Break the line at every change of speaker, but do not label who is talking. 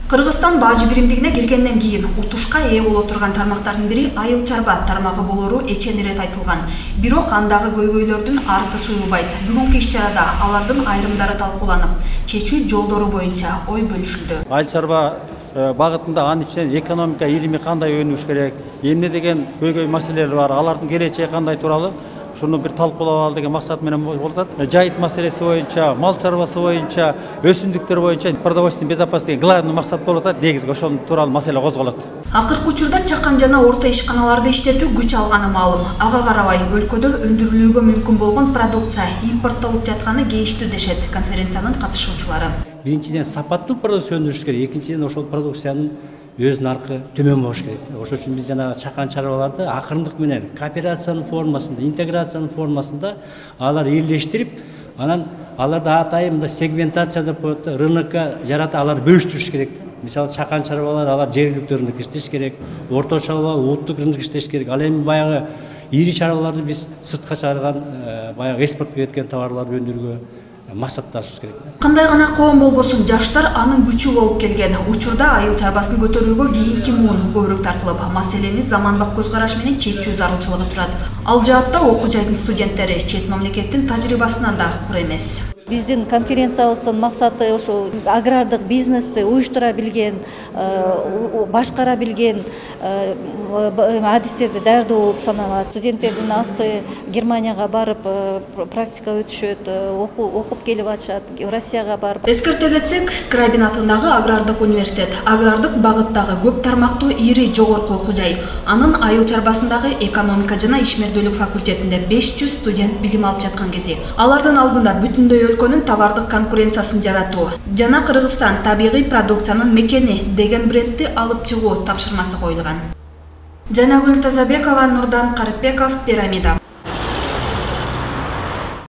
Кыргызстан бажы биримдигине киргенден кийин утушка ээ боло турган тармактардын бири айыл чарба тармагы болору эчен ирет айтылган. Бирок андагы көйгөйлөрдүн арты суюлбайт. Бүгүнкү иш-чарада алардын айрымдары талкууланып, чечүү жолдору боюнча ой бөлүшүлдү.
Айыл чарба багытында анын ичинен экономика илими кандай өнүгүш керек, эмне деген көйгөй маселелер бар, алардын келечеги кандай тууралуу шуну бир талкуулап ал деген максат менен болуп атат. Жайыт маселеси боюнча, мал чарбасы боюнча, өсүмдүктөр боюнча продовольственный безопасность деген главный максат болуп атат. Негизги ошол тууралуу маселе козголот.
Акыркы учурда чакан жана орто ишканаларды иштетүү күч алганы маалым. Ага карабай өлкөдө өндүрүлүүгө мүмкүн болгон продукция импорттолуп жатканы кейиштүү дешет конференциянын катышуучулары.
Биринчиден сапаттуу продукция өндүрүш керек, экинчиден ошол продукциянын өз наркы төмөн болуш керек. Ошол үчүн биз жана чакан чарбаларды акырындык менен кооперациянын формасында, интеграциянын формасында алар элдештирип, анан аларды атайын сегментация деп коет, рынокко жарата алар бөлүштүрүш керек. Мисалы чакан чарбалар алар жергиликтүү рынок иштеш керек, орто чарбалар улуттук рынок иштеш керек. Ал эми баягы ири чарбаларды биз сыртка чыгарган, баягы экспортко кеткен товарларды өндүрүүгө максатташыбыз керек.
Кандай гана коом болбосун, жаштар анын күчү болуп келген. Учурда айыл чарбасын көтөрүүгө кийинки муун көбүрөөк тартылып, маселени заманбап көз караш менен чечүү зарылчылыгы турат. Ал жаатта окуу жайдын студенттери чет мамлекеттин тажрыйбасынан да кур эмес.
Биздин конференциябыздын максаты ошо агрардык бизнести уюштура билген, башкара билген адистерди даярдоо болуп саналат. Студенттердин асты Германияга барып практика өтүшөт, окуп келип атышат, Россияга барып.
Эскерте кетсек, Скрайбин атындагы агрардык университет, агрардык багыттагы көп тармактуу ири жогорку окуу жай. Анын айыл чарбасындагы экономика жана ишмердүүлүк факультетинде 500 студент билим алып жаткан кези. Алардын алдында бүтүндөй өлкөнүн товардык конкуренциясын жаратуу жана Кыргызстан табигый продукциянын мекени деген брендти алып чыгуу тапшырмасы коюлган. Жанагүл Тазабекова, Нурдан Карипбеков, Пирамида.